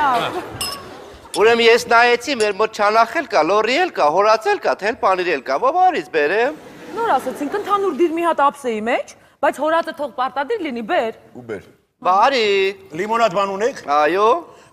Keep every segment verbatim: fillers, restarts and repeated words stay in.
լավ։ Ուրեմն ես նայեցի, մեր մոտ չանախել կա, լորի էլ կա, հորացել կա, թել պանիր էլ կա, ո՞բարից բերեմ։ Նոր ասացինք, ընդհանուր դիր մի հատ ափսեի մեջ, բայց հորածը թող պարտադիր լինի, բեր։ Ու բեր։ Բարի։ Լիմոնադ բան ունեք։ Այո։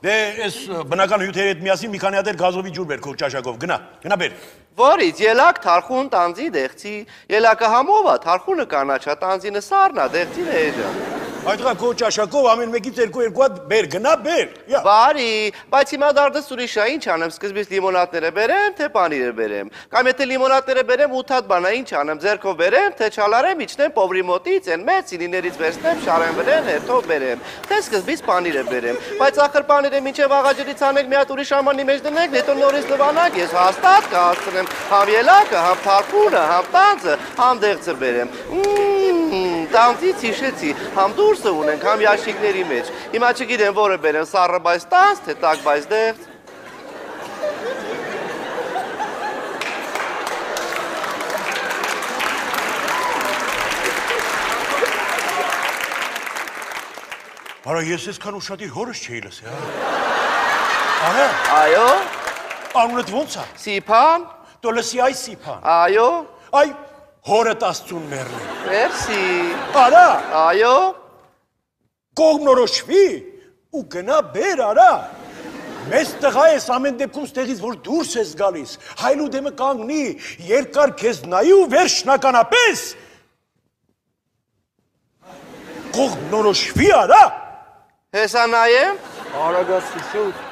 Դե այս բնական հյութերի հետ միասին մի քանի հատ էլ գազովի ջուր բեր քո ճաշակով։ Գնա, գնա բեր։ Որից ելակ թարխուն տանձի դեղցի, ելակը համովա, թարխունը կանաչա, տանձինը սառնա, դեղցին է էջան։ Այդղա քո ճաշակով ամեն մեկից երկու երկու հատ բեր, գնա բեր։ Բարի, բայց հիմա դարձ ուրիշ է, ինչ անեմ, սկզբից լիմոնադները բերեմ, թե պանիրը բերեմ։ Կամ եթե լիմոնադները բերեմ ութ հատ բանա, ինչ անեմ, ձեռքով բերեմ, թե չալարեմ, իջնեմ պովրի մոտից, այն մեծ սինիներից վերցնեմ, շարեմ վրեն, հետո բերեմ, թե սկզբից պանիրը բերեմ։ Բայց ախր պանիրը մինչև աղաջրից անեք մի հատ ուրիշ ամանի մեջ դնեք, հետո նորից լվանակ, ես հաստատ կհասցնեմ համ ելակը, համ թարխունը, համ տանձը, համ դեղցը բերեմ։ Տանձից հիշեցի, համ դուրսը ունենք, համ յաշիկների մեջ։ Հիմա չգիտեմ որը բերեմ, սառը բայց տանձ, թե տաք բայց դեղց։ Արա ես այսքան ուշադիր հորս չէի լսի, հա։ Արա։ Այո։ Անունդ ո՞նց է։ Սիփան։ Դու լսի այ Սիփան։ Այո։ Այ հորդ Աստծուն մեռնի։ Մերսի։ Արա։ Այո։ Կողմնորոշվի ու գնա բեր, արա։ Մեծ տղա ես ամեն դեպքում ստեղից, որ դուրս ես գալիս, հայլու դեմը կանգնի, երկար քեզ նայի ու վերջնականապես կողմնորոշվի, արա։ Հեսա նայեմ։ Արագացի շուտ։